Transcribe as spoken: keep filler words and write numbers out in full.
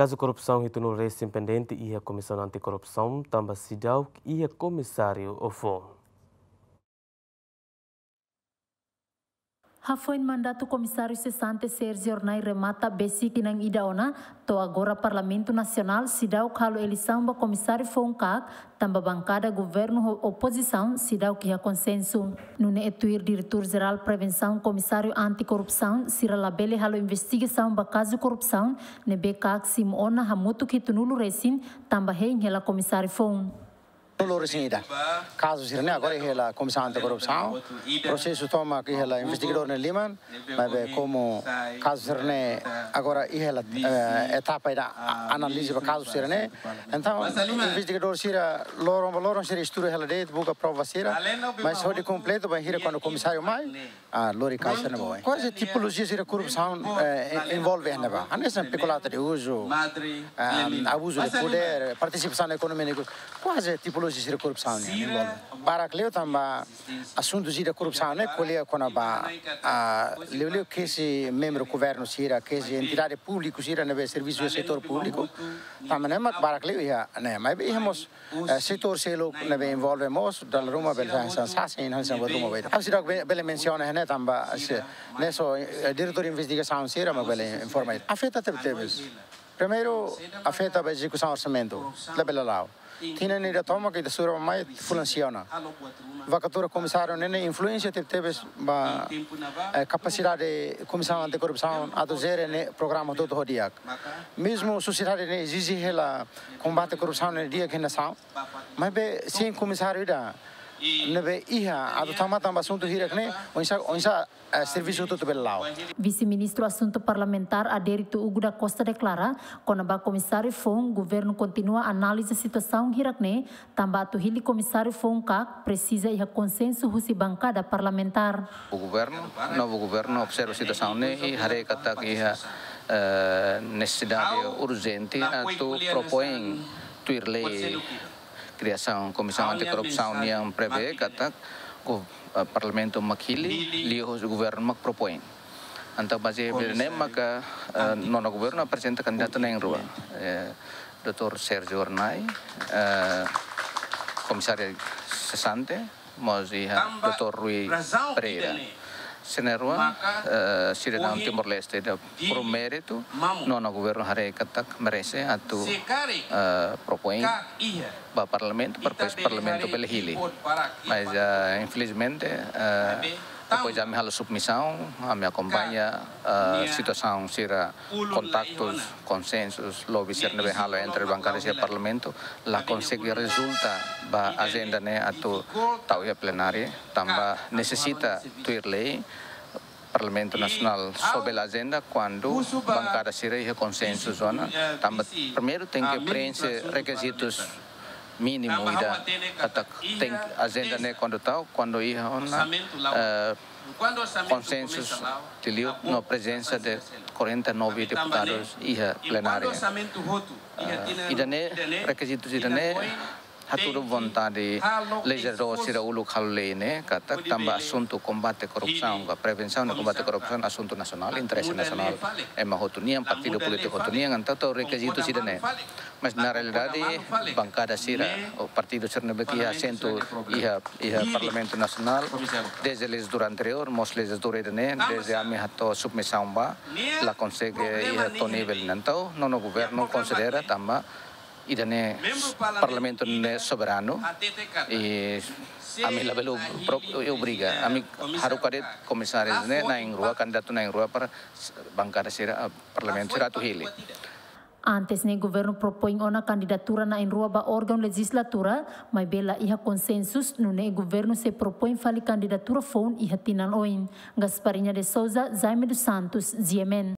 Kazu korrupsaun hitunulu resin pendente iha Komisaun Anti-Korrupsaun, tanba seidauk iha komisáriu foun. Hafoin mandatu Komisáriu sesante Sérgio Hornai remata besik tinan ida ona, to'o agora Parlamentu Nasionál seidauk halo eleisaun ba komisáriu foun kak, tanba bankada governu ho opozisaun seidauk iha konsensu. Nune'e tuir Diretór Jerál Prevensaun Komisáriu Anti-Korrupsaun, sira labele halo investigasaun ba kazu korrupsaun ne'ebé kak simu ona hamutuk hitunulu resin, tanba hein hela komisáriu foun. Hitunulu resin ida. Kazu sira-ne'e agora iha hela Komisaun Anti-Korrupsaun. Prosesu tomak iha hela investigadór nia liman, maibé komu kazu sira-ne'e agora iha hela, eh, etapa ida a-, analiza ba kazu sira-ne'e. Entaun, investigadór sira loron ba loron sira estuda hela de'it, buka prova sira. Mas hodi kompletu bainhira kuandu komisáriu mai, ah, lori kazu sira-ne'e ba oin. Kuaze tipolojia sira korrupsaun, eh, envolve iha ne'ebá. Hanesan peculata de uso, ah, abuzu de podér, partisipasaun na ekonomia negosi. Kuaze tipolojia sira korrupsaun ne'e envolve. Barak liu tanba asuntu sira korrupsaun ne'e ko'alia kona-ba, ah, liuliu kesi membru governu sira, kesi entidade públiku sira ne'ebé servisu setór públiku. Tanba ne'e mak barak liu iha ne'e. Maibé iha mós, eh, setór seluk ne'ebé envolve mós, dala ruma bele hanesan sasin, hanesan buat ruma bele. Ha'u seidauk be-, bele mensiona ne'e tanba se, ne'e só, eh, diretór investigasaun sira mak bele informa. Afeta tebetebes. Primeiru, afeta ba ezekusaun orsamentu, labele la'o. Tinan ida tomak ita sura mai fulan sia ona. Vakatura komisáriu ne'e influénsia tebetebes ba, eh, kapasidade Komisaun Anti-Korrupsaun atu jere ne'e programa hotu-hotu ho di'ak. Mezmu sosiedade ne'e ezije hela kombate korrupsaun ne'e di'ak iha nasaun. Maibé sein komisáriu ida ne'ebé iha atu tama tanba asuntu hirak ne'e, oinsá, oinsá, eh, servisu hotu-hotu bele la'o. Vise-Ministru Asuntu Parlamentár Adérito Hugo da Costa deklara, kona-ba komisáriu foun, governu kontinua analiza situasaun hirak ne'e, tanba atu hili komisáriu foun kak presiza iha konsensu husi bankada parlamentár. O governo, novo governo observa situasaun ne'e i haree katak iha, eh, nesesidade urjente atu propoin tuir lei kriasaun Komisaun Anti-Korrupsaun nian prevee katak go-, eh, Parlamentu mak hili, liuhosi governu mak propoin. Entaun bazeia ba ne'e maka, eh, nonu governu aprezenta kandidatu na'in-rua. Eh, doutór Sérgio Hornai, eh, komisáriu sesante, mós iha doutór Rui Pereira. Sira na'in-rua, eh, sidadaun Timor-Leste ida por méritu, nonu governu haree katak merese atu, eh, propoin ba Parlamentu, para depois Parlamentu bele hili. Mas, eh, infelizmente, eh, depois ami halo submisaun, ami akompaña, eh, situasaun sira, kontaktus, konsensus, lobby sira ne'ebé halo entre bankada sira Parlamentu, la konsege rezulta ba ajenda ne'e atu tau iha plenária, tanba nesesita tuir lei, Parlamentu Nasionál só bele ajenda kuandu bankada sira iha konsensu ona, tanba primeiru tenke preenxe rekizitus mínimu ida, katak tenke ajenda ne'e kuandu tau, kuandu iha ona, eh, konsensu liuliu no prezensa de quarenta e nove deputadus iha plenária. Eh, ida-ne'e, rekizitus ida-ne'e hatudu vontade lejizladór sira uluk halo lei ne'e, katak tanba asuntu kombate korrupsaun, ka prevensaun no kombate korrupsaun, asuntu nasionál, interese nasionál, ema hotu nian, partidu polítiku hotu nian, entaun tau rekizitus ida-ne'e. Mas na realidade, bankada sira, ou partidu sira ne'ebé ke iha asentu iha, iha Parlamentu Nasionál, dezde lejizladura anteriór, mós lejizladura ida-ne'e, dezde ami hato'o submisaun ba, la konsege iha to'o nivel ne'e. Entaun, nonu governu konsidera tanba ida-ne'e Parlamentu ne'e soberanu, i ami labele pro-, obriga, ami haruka de'it komisáriu ne'e na'in-rua, kandidatu na'in-rua para bankada sira, ah, Parlamentu sira atu hili. Antes ne'e governu propoin ona kandidatura na'in-rua ba órgaun lejizlatura, maibé la iha konsensus, nune'e governu sei propoin fali kandidatura foun iha tinan oin. Gasparinha de Souza, Jaime dos Santos, G M N.